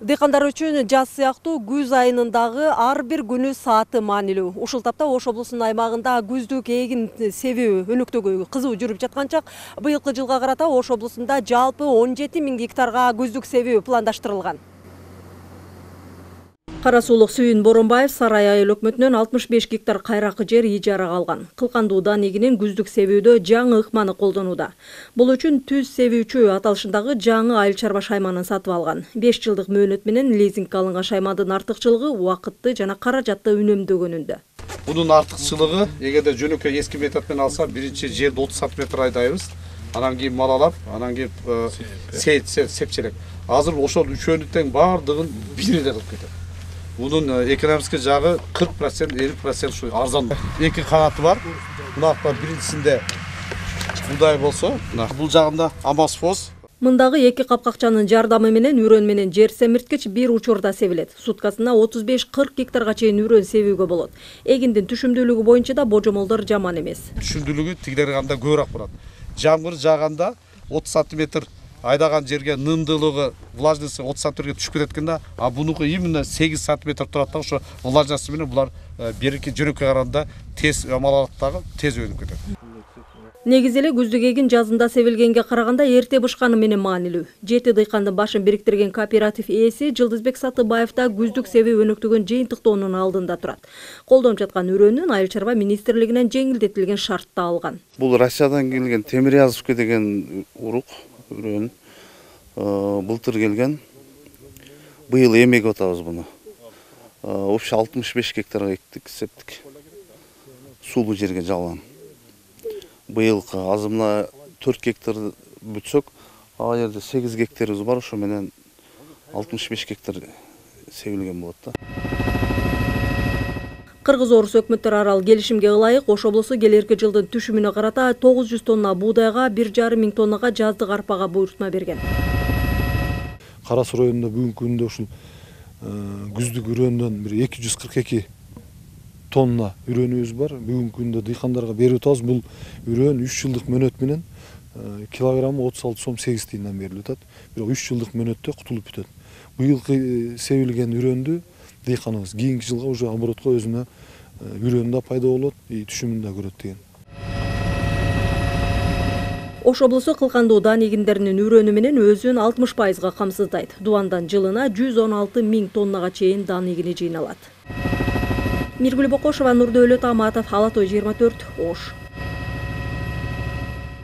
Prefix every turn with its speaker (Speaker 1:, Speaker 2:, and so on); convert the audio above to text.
Speaker 1: Дыйкандар үчүн жаз сыяктуу күз айынын дагы ар бир күнү сааты маанилүү. Ушул тапта Ош облусунун аймагында күздүк эгин себүү өнөктөгү кызуу жүрүп жаткан чак. Быйылкы жылга карата Ош облусунда жалпы 17 000 гектарга күздүк себүү пландаштырылган. Кара суулук Сүйүн Боронбаев Сарай айыл өкмөтүнөн 65 гектар кайракы жер ижарага алган. Кылкандуу дан эгинин күздүк себүүдө жаңы ыкманы колдонууда. Бул үчүн түз себүүчү аталышындагы жаңы айыл чарба шайманын сатып алган. 5 жылдык мөөнөт менен лизингге алынган шаймандын артыкчылыгы убакытты жана каражатты үнөмдөгөнүндө.
Speaker 2: Bunun артыкчылыгы, эгерде жөнөкөй эски метод менен алса, биринчи жерди 30 см айдайбыз. Анан кийин мал алып, анан кийин сепчелек. Азыр ошол үчөөнү тең бардыгын бир эле кылып кетет. Bunun ekonomik жагы 40%, 50% şu arzan. Эки канаты бар. Мынакта биринчисинде будай болсо, бул жагында амосфос.
Speaker 1: Мындагы эки капкакчанын жардамы менен үрөн менен жер семирткич бир учурда себилет. Суткасына 35-40 гектарга чейин үрөн себүүгө болот. Эгиндин түшүмдүүлүгү боюнча да божомолдор жаман эмес.
Speaker 2: Түшүмдүүлүгү тигилерге кандай көбүрөөк болот. Жамгыр жааганда 30 см айдаган жерге нымдуулугу, влажности 30 см түшүп кетет экен да, а бунуку именно 8 см турат да, ошо влажность менен булар берки жөнөккө караганда тез мал алат дагы тез өнүп кетет.
Speaker 1: Негизи эле күздүк эгин жазында себилгенге караганда эрте бышканы менен маанилүү. 7 дыйкандын башын бириктирген кооператив ээси Жылдызбек Сатыбаев да күздүк себүү өнөктөгөн жыйынтыктоонун алдында турат. Колдонуп жаткан үрөөнүн Айыл чарба министрлигинен жеңилдетилген шартта алган.
Speaker 3: Бул Россиядан келген Темирязовка деген урук үрөөн былтыр келген. Быйыл эмек атабыз буну. Общий 65 гектарга эктик, септик. Сулуу жерге жалган. Быйылкы азымына 4 гектар бүтсөк, ал жерде 8 гектарыбыз бар, ошо менен 65 гектар себилген болот да.
Speaker 1: Кыргыз-Орус өкмөттөр арал келишимге ылайык Ош облусу келерки жылдын түшүмүнө карата 900 тонна буудайга, 1,5 миң тоннага жаздык арпага буйрутма берген.
Speaker 4: Кара Суу районунда бүгүнкү күндө ушул күздүк үрөөндөн бир 242 тонна үрөөнүбүз бар. Бүгүнкү күндө дыйкандарга берип атабыз. Бул үрөөн 3 жылдык мөөнөт менен килограммы 36 сом 8 тыйындан берилип атат. Бирок 3 жылдык мөөнөттө кутулуп бүтөт. Быйылкы себилген үрөөндү дыйканыбыз кийинки жылга уже оборотко өзүнө үрөөн да пайда болот, түшүмүн да көрөт деген.
Speaker 1: Ош облусу кылкандуу дан эгиндеринин үрөөнү менен өзүн 60%га камсыздайт. Дубандан жылына 116 000 тоннага чейин дан эгини жыйналат. Миргүл Бокошова, Нурдөөлөт Аматов, Ала Той 24, Ош.